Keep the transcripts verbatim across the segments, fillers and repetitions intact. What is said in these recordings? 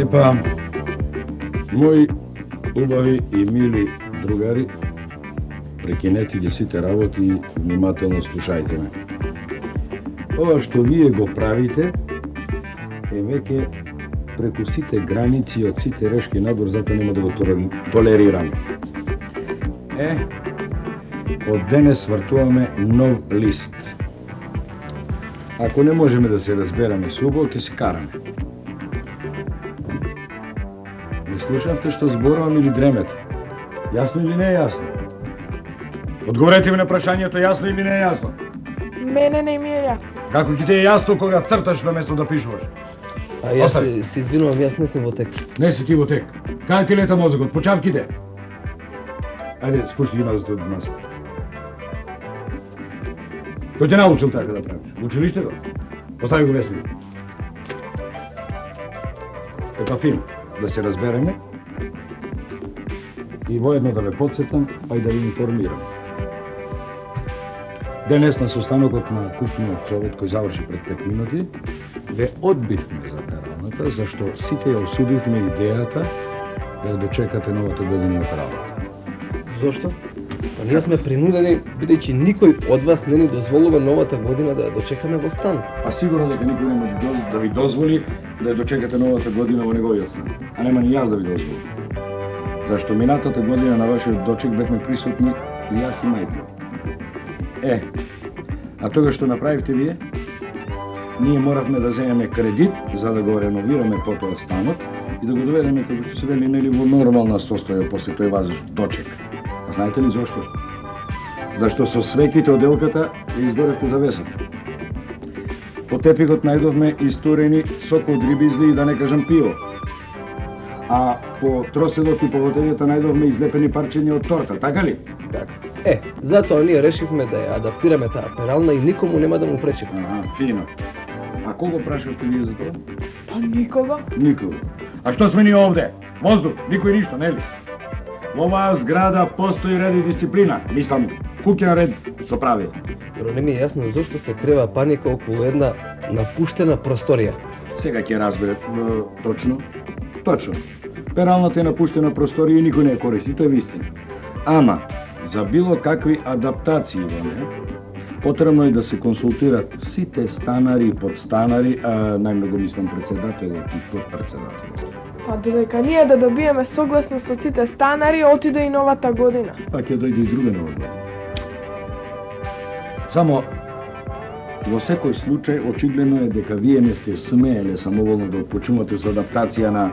Епа, мои убави и мили другари, прекинете ги сите работи и внимателно слушајте ме. Ова што вие го правите е веќе преку сите граници од сите решки надвор, затоа нема да го толерирам. Е, од денес вртуваме нов лист. Ако не можеме да се разбераме со убаво, ќе се караме. Не слушавте што зборувам или дремете? Јасно или не е јасно? Одговорете ми на прашањето, јасно или не е јасно? Мене не ми е јасно. Како ќе ти е јасно кога црташ на место да пишуваш? А јас се, се извинувам, јас не сум во тек. Не си ти во тек. Каде ти лета мозокот? Почавките? Ајде, спушти ги мазата од маса. Кој те научил така да правиш? Училиштето? Постави го весник. Епа фино, да се разбереме и воедно да ве подсетам, а и да ви информирам. Денес на состанокот на кухниот совет кој заврши пред пет минути, ве одбивме за пералната, зашто сите ја осудивме идејата да ја дочекате новата година на пералната. Зошто? Па ние сме принудени, бидејќи никој од вас не ни дозволува новата година да ја дочекаме во стан. Па сигурно дека никој нема да ви дозволи да ја дочекате новата година во неговиот стан. А нема ни јас да ви дозволам. Зашто минатата година на вашиот дочек бевме присутни и јас и мајка. Е, а тога што направивте вие? Ние моравме да земеме кредит за да го реновираме потоа станот и да го доведеме, како што се вели, нели во нормална состојба после тој ваш дочек. А знаете ли зошто? Зашто со свеките од елката ја изгоревте завесата. По тепикот најдовме истурени сок од рибизли и да не кажам пиво. А по троседот и по водењата најдовме излепени парчиња од торта, така ли? Така. Е, затоа ние решивме да ја адаптираме таа перална и никому нема да му пречиме. Ага, фино. А кого прашавте вие за тоа? Па никога. Никого. А што сме ние овде? Воздух, никој ништо, нели? Во оваа зграда постои ред и дисциплина. Мислам, куќен ред со правила. Но не ми е јасно зошто се крева паника околу една напуштена просторија. Сега ќе разберете точно. Точно. Пералната е напуштена просторија и никој не ја користи, тоа е вистина. Ама, за било какви адаптации во неја, потребно е да се консултират сите станари и подстанари, а најмногу мислам председателот и подпредседателот. Па додека ние да добиеме согласност од сите станари, отиде и новата година. Па ќе дојде и друга нова година. Само, во секој случај, очигледно е дека вие не сте смееле самоволно да отпочнувате со адаптација на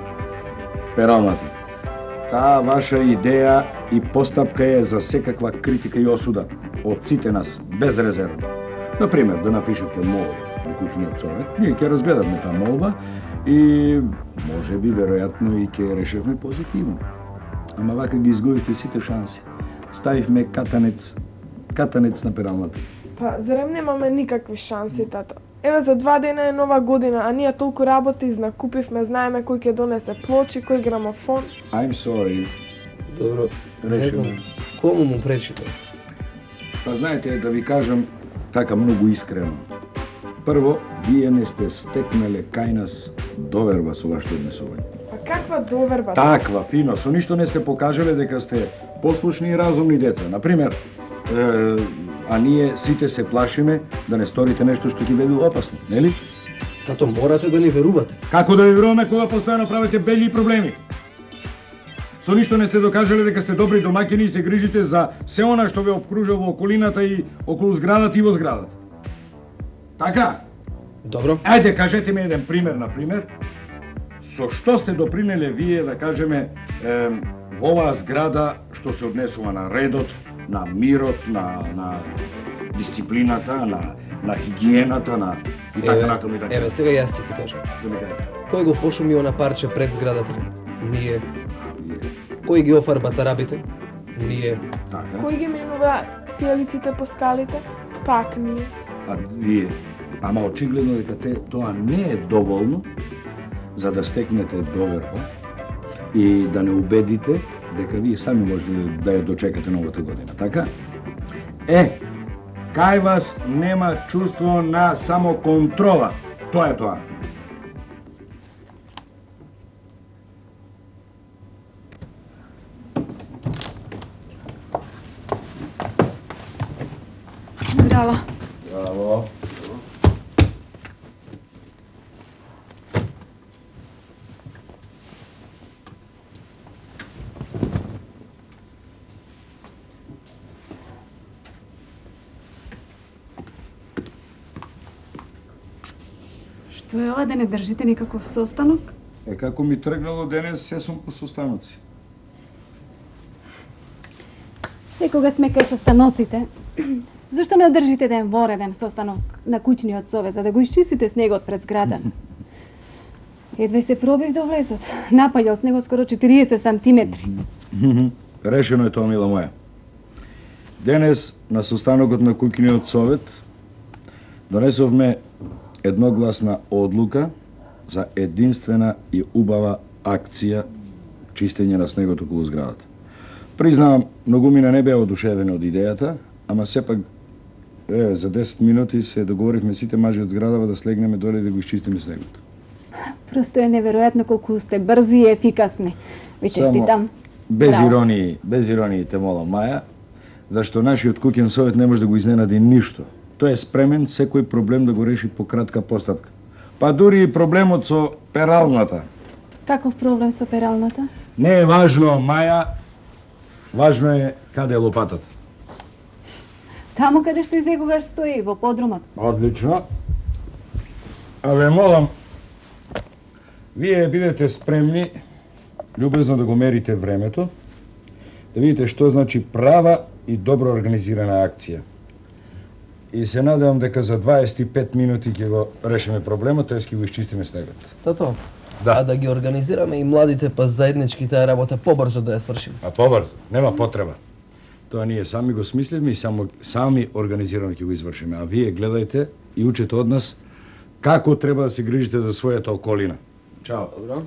пералната. Таа ваша идеја и постапка е за секаква критика и осуда од сите нас, безрезервно. Например, да напишете молба во кухниот совет, ние ќе разгледаме таа молба и може би, веројатно, и ќе решевме позитивно. Ама вака ги изгубивте сите шанси. Ставивме катанец, катанец на пералната. Па, зарем немаме никакви шанси, тато? Еве за два дена е нова година, а ние толку работи изнакупивме, знаеме кој ќе донесе плочи, кој грамофон. I'm sorry. Добро, Решено. Кому му пречите? Па знаете, да ви кажам така многу искрено. Прво, вие не сте стекнале кај нас доверба со вашето однесување. Па каква доверба? Таква, фино, со ништо не сте покажале дека сте послушни и разумни деца. Например, е, а ние сите се плашиме да не сторите нешто што ќе биде опасно, нели? Тато, морате да ни верувате. Како да ви веруваме кога постојано правите бели проблеми? Со ништо не сте докажале дека сте добри домаќини и се грижите за се она што ве опкружува во околината и околу зградата и во зградата. Така? Добро. Ајде, кажете ми еден пример, на пример. Со што сте допринеле вие, да кажеме, е, во оваа зграда што се однесува на редот, на мирот, на, на дисциплината, на, на хигиената, на и така натаму и така. Еве, сега јас ќе ти кажам. Да ми кажете. Кој го пошуми она парче пред зградата? Ние. Кој ги офарба тарабите? Ние. Така. Кој ги менува сијалиците по скалите? Пак ние. А вие. Ама очигледно дека те тоа не е доволно за да стекнете доверба и да не убедите дека вие сами можете да ја дочекате новата година, така? Е, кај вас нема чувство на самоконтрола. Тоа е тоа. Браво. Браво. Што е ова да не држите никаков состанок? Е, како ми тргнало денес, се сум по состаноци. Е, кога сме кај состаноците, зашто не одржите ден вореден состанок на куќниот совет, за да го исчистите снегот пред зграда? Едве се пробив до влезот. Напаѓал снегот скоро четириесет сантиметри. Решено е тоа, мила моја. Денес, на состанокот на куќниот совет, донесовме едногласна одлука за единствена и убава акција чистење на снегот околу зградата. Признавам, многумина не беа одушевени од идејата, ама сепак е, за десет минути се договоривме сите мажи од зградава да слегнеме доле да го исчистиме снегот. Просто е неверојатно колку сте брзи и ефикасни. Ви честитам. Без Браво. иронии, без иронии те молам, Маја, зашто нашиот куќен совет не може да го изненади ништо. Тој е спремен секој проблем да го реши по кратка постапка. Па дури и проблемот со пералната. Каков проблем со пералната? Не е важно, Маја, важно е каде е лопатата. Таму каде што и секогаш стои, во подрумот. Одлично. А ве молам, вие бидете спремни, љубезно да го мерите времето, да видите што значи права и добро организирана акција. И се надевам дека за дваесет и пет минути ќе го решиме проблемот, тоест ќе го исчистиме снегот. Тото, Да. а да ги организираме и младите па заеднички таа работа побрзо да ја свршиме. А побрзо, нема потреба. Тоа ние сами го смислиме и само сами организирано ќе го извршиме. А вие гледајте и учете од нас како треба да се грижите за својата околина. Чао. Добро.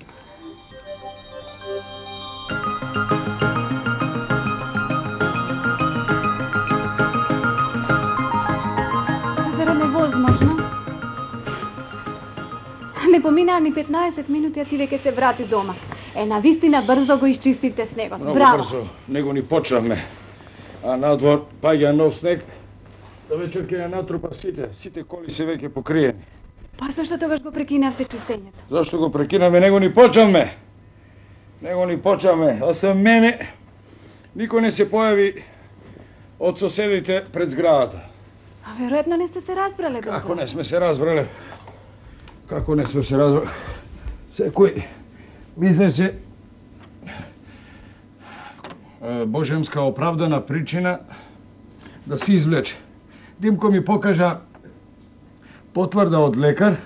Зарем е возможно? Не поминаа ни петнаесет минути, а ти веќе се врати дома. Е, навистина брзо го исчистите снегот. Многу Браво. брзо, него ни почнавме. А надвор паѓа нов снег, да вечер ќе ја натрупа сите, сите коли се веќе покриени. Па зашто тогаш го прекинавте чистењето? Зашто го прекинавме, него ни почнавме. Него ни почнавме, а се мене никој не се појави од соседите пред зградата. А веројатно не сте се разбрале добро. Како не сме се разбрале? Како не сме се разбрале? Секој бизнесе божемска оправдана причина да се извлече. Димко ми покажа потврда од лекар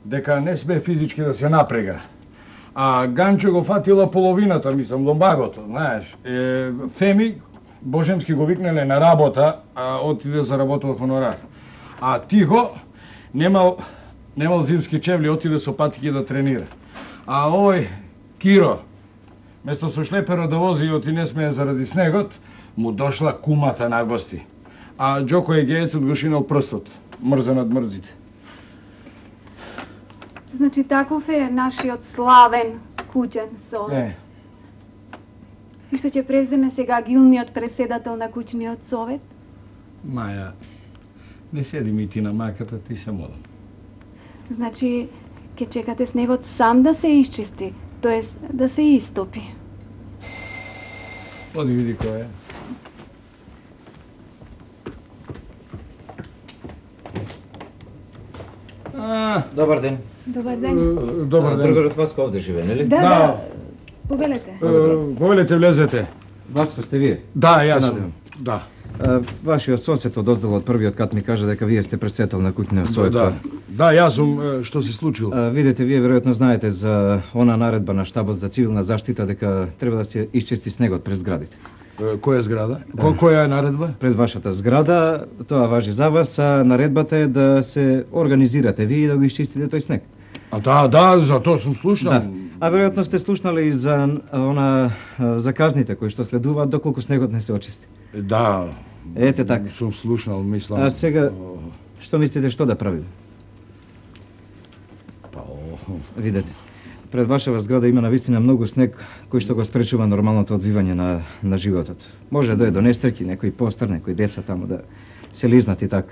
дека не сме физички да се напрега. А Ганчо го фатила половината, мислам, ломбагото, знаеш. Е, Феми божемски го викнале на работа, а отиде за работа во хонорар. А Тихо немал немал зимски чевли, отиде со патики да тренира. А овој Киро, место со шлеперо да вози и оти не смее заради снегот, му дошла кумата на гости. А Джоко Егеецот го шинал прстот, мрза над мрзите. Значи таков е нашиот славен куќен совет. Не, И што ќе преземе сега гилниот председател на куќниот совет? Маја, не седи ми ти на маката, ти се молам. Значи, ќе чекате снегот сам да се исчисти, тоест да се истопи. Оди види кој е. А, Добар ден. Добар ден. добар ден. Другарот Васко овде живее, нели? Да, Да. да. Повелете. Повелете, влезете. Васко сте вие? Да, Се јас надевам. сум. Да. А, вашиот сосед од оздел од првиот кат ми кажа дека вие сте председател на куќниот совет. Да, да, јас сум, е, што се случило. А, видете, вие веројатно знаете за она наредба на штабот за цивилна заштита дека треба да се исчисти снегот пред зградите. Е, Која зграда? Ко, која е наредба? Пред вашата зграда, тоа важи за вас, а наредбата е да се организирате вие и да го исчистите тој снег. А да, да, за тоа сум слушнал. Да. А веројатно сте слушнали и за она а, за казните кои што следуваат доколку снегот не се очисти. Да. Ете така. Сум слушнал, мислам. А сега што мислите што да правиме? Па, о, Видете, пред вашава зграда има навистина многу снег кој што го спречува нормалното одвивање на, на животот. Може да е до несреќи, некој постар, некој деца таму да се лизнат и така.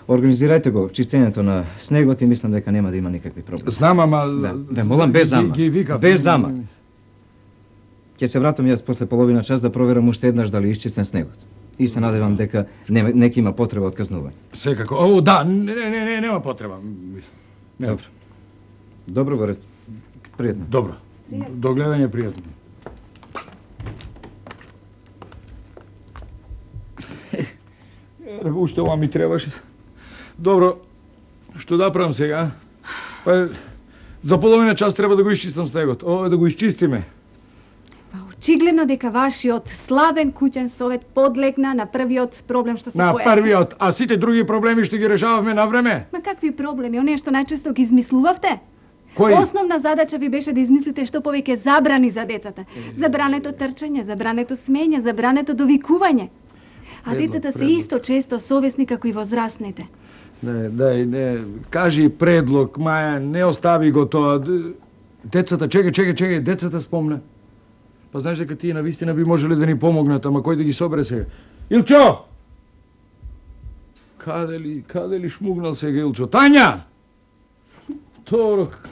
Организирајте го чистењето на снегот и мислам дека нема да има никакви проблеми. Знам, ама... Да, ве молам без зама. Ги, ги викав. Без зама. Ќе се вратам јас после половина час да проверам уште еднаш дали исчистен снегот. И се надевам дека не, неки има потреба од казнување. Секако. О, да, не, не, не, не, нема потреба. Не. Добро. Добро, горе. Пријатно. Добро. До гледање, пријатно. Е, уште ова ми требаше. Добро, што да правам сега? Па, за половина час треба да го исчистам снегот. О, да го исчистиме. Па очигледно дека вашиот славен куќен совет подлегна на првиот проблем што се На појави. првиот, а сите други проблеми што ги решававме на време? Ма какви проблеми? Оние што најчесто ги измислувавте? Кои? Основна задача ви беше да измислите што повеќе забрани за децата. Забрането трчање, забрането смење, забрането довикување. А Предлог, децата се предлог. исто често совесни како и возрастните. Не, дај, не, кажи предлог, Маја, не остави го тоа. Д- Децата, чекај, чекај, чекај, децата спомна. Па знаеш дека тие навистина би можеле да ни помогнат, ама кој да ги собере сега? Илчо! Каде ли, каде ли шмугнал сега Илчо? Тања! Торок.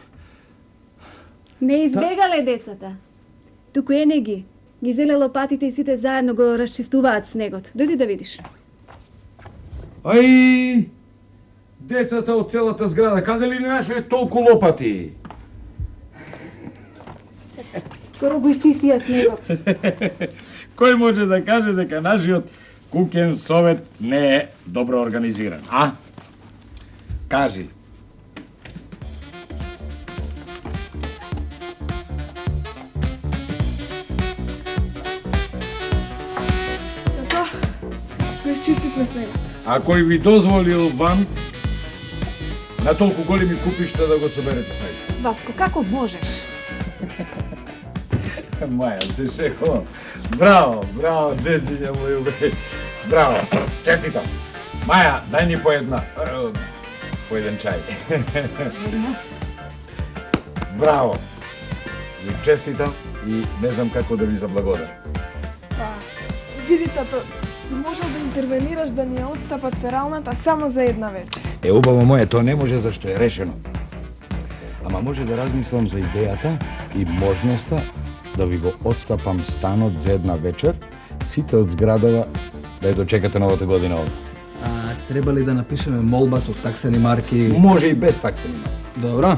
Не избегале децата. Туку ене ги. Ги зеле лопатите и сите заедно го расчистуваат снегот. Дојди да видиш. Ај! Децата од целата зграда, каде ли не нашли толку лопати? Скоро го исчистија снегот. Кој може да каже дека нашиот куќен совет не е добро организиран, а? Кажи. Тато, го исчистивме снегот. А кој ви дозволил вам на толку големи купишта да го соберете снег? Васко, како можеш? Маја, се шехо. Браво, браво, дечиња мој убе. Браво, честито. Маја, дај ни по една, е, по еден чај. Браво. Ви честитам и не знам како да ви заблагодарам. Па, види, тато, можел да интервенираш да ни ја отстапат пералната само за една вечер. Е, убаво моје, тоа не може зашто е решено. Ама може да размислам за идејата и можноста да ви го отстапам станот за една вечер, сите од зградава да ја дочекате новата година овде. А треба ли да напишеме молба со таксени марки? Може и без таксени марки. Добро.